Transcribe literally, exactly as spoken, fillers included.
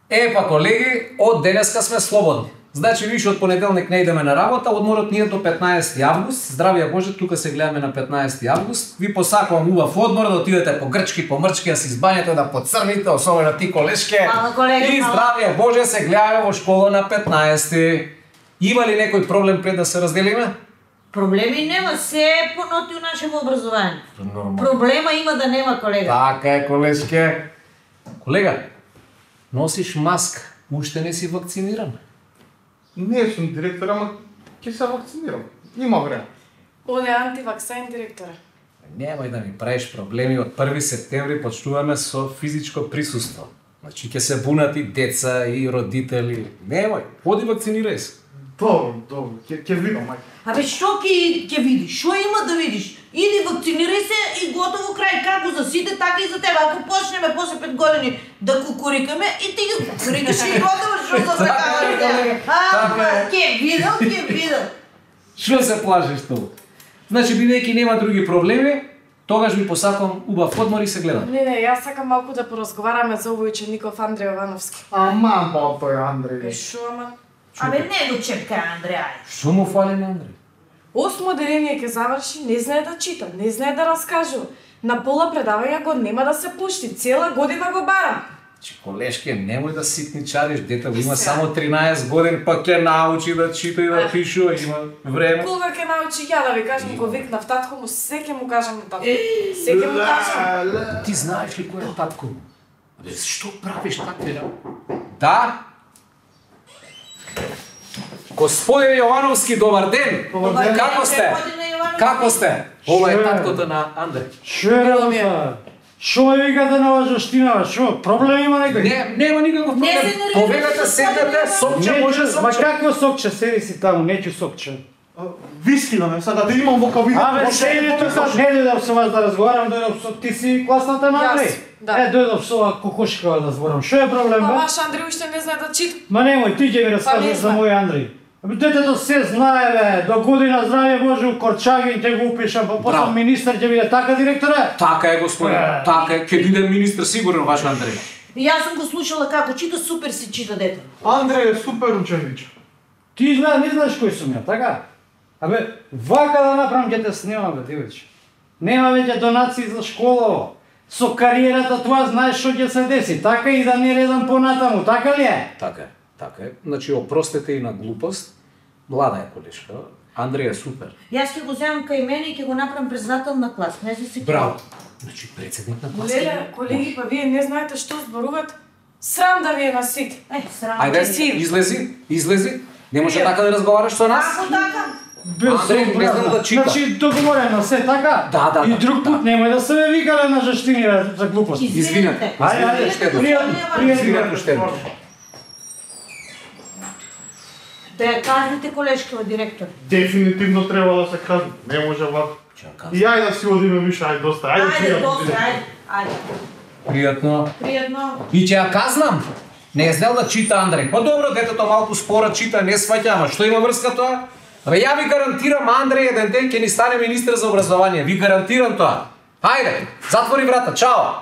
Епа, колеги, од денеска сме слободни. Значи, више од понеделник не идеме на работа, одморот ни е до петнаесети август. Здравија Боже, тука се гледаме на петнаесети август. Ви посакувам убав одмор, да отидете по грчки, по мрчки, да се избањете, да поцрните, особено ти, колешке. Мала колега, и здравија Боже, се гледаме во школа на петнаесети. Има ли некој проблем пред да се разделиме? Проблеми нема, се е поноти у нашето образование. Нормално. Проблема има да нема, колега. Така е, колешке. Колега, носиш маска, уште не си вакциниран. Не сум директор, ама ќе се вакцинирам. Има време. Он е антиваксен директора. Немај да ми правиш проблеми, од први септември почнуваме со физичко присуство. Значи ќе се бунат и деца и родители. Немај, оди вакцинирај се. Добро, добро, ќе ќе видам, мајка. Абе, што ќе ќе видиш? Што има да видиш? Иди вакцинирај се и готово крај. Како за сите, така и за тебе. Ако почнеме после пет години да кукурикаме, и ти ги кукурикаш и готово, што за така. А, ќе видам, ќе видам. Што се плашиш толку? Значи, бидејќи нема други проблеми, тогаш ви посакувам убав одмор и се гледаме. Не, не, јас сакам малку да поразговараме за овој учеников Андреј Јовановски. Ама, па тој Андреј. Е, шо, ама? Абе, не го чепкај, Андреј. Што му фали на Андреј? Осмо деление ќе заврши, не знае да чита, не знае да раскажува. На пола предавања го нема да се пушти, цела година го барам. Че, колешке, немој да ситничариш, детето има само тринаесет години, па ќе научи да чита и да пишува, има време. Кога ќе научи ја да ви кажам, го викнав татко му, се ќе му кажам на татко. Се ќе му кажам. Ти знаеш ли кој е татко? Абе, што правиш такви работи? Да? Господин Јовановски, добар ден! Добар ден. Како сте? Како сте? Ова е таткото на Андреј. Шо е работа? Шо ме викате на лажоштина? Шо, проблем има некој? Не, нема никаков Не се проблем. нервирате, Повегате, седнете, сокче, Неќу- може Ма сокче. какво сокче? Седи си таму, неќу сокче. Виски да ме сада, да имам во кабина. Абе, седи тука, не дојдов со вас да разговарам, дојдов со ти си класната на Јас, Андреј. да. Е, дојдов со ова кокошкава да зборам. Шо е проблем, Па бе? ваш Андреј уште не знае да чита. Ма немој, ти ќе ми Па раскажеш не за знам. мој Андреј. Абе, детето се знае, бе, до година здравје Боже, у Корчагин ќе го упишам, па после Браво. министар ќе биде така, директоре? Така е, господин. Е. Така е. Ќе биде министр сигурно ваш Андреј. Јас сум го слушала како чита, супер си чита дете. Андреј е супер ученич. Ти знаеш, не знаеш кој сум ја, така? Абе, вака да направам ќе те снимам, бе, ти вече. Нема веќе донации за школа. Со кариерата тоа знаеш што ќе се деси, така и да не редам понатаму, така ли е? Така е. Така е. Значи, опростете и на глупост. Млада е колешка. Андреј е супер. Јас ќе го земам кај мене и ќе го направам председател на клас. Не се се. Браво. Значи, председник на клас. Леле, колеги, па вие не знаете што зборуват. Срам да ви е на сите. Е, срам. Ајде, Си. излези, излези. Не може така да разговараш со нас. Како така? Андреј, не знам да чита. Значи, договорено се, така? Да, да, И да, друг пут немој да се ме викале на жаштини бе, за глупости. Извинете. Ајде, ајде, Уште еднаш. пријатно, пријатно. Извинете уште еднаш. Да ја кажете колешкава директор. Дефинитивно треба да се каже. Не може вака. И ајде да си одиме више, ајде доста. Ајде, Ајде, пријатно. доста, ајде. Ајде. Пријатно. Пријатно. И ќе ја казнам. Не е знел да чита Андреј. Па добро, детето малку спора чита, не сваќа, ама што има врска тоа? Абе, ја ви гарантирам, Андреј еден ден ќе ни стане министер за образование. Ви гарантирам тоа. Ајде, затвори врата, чао.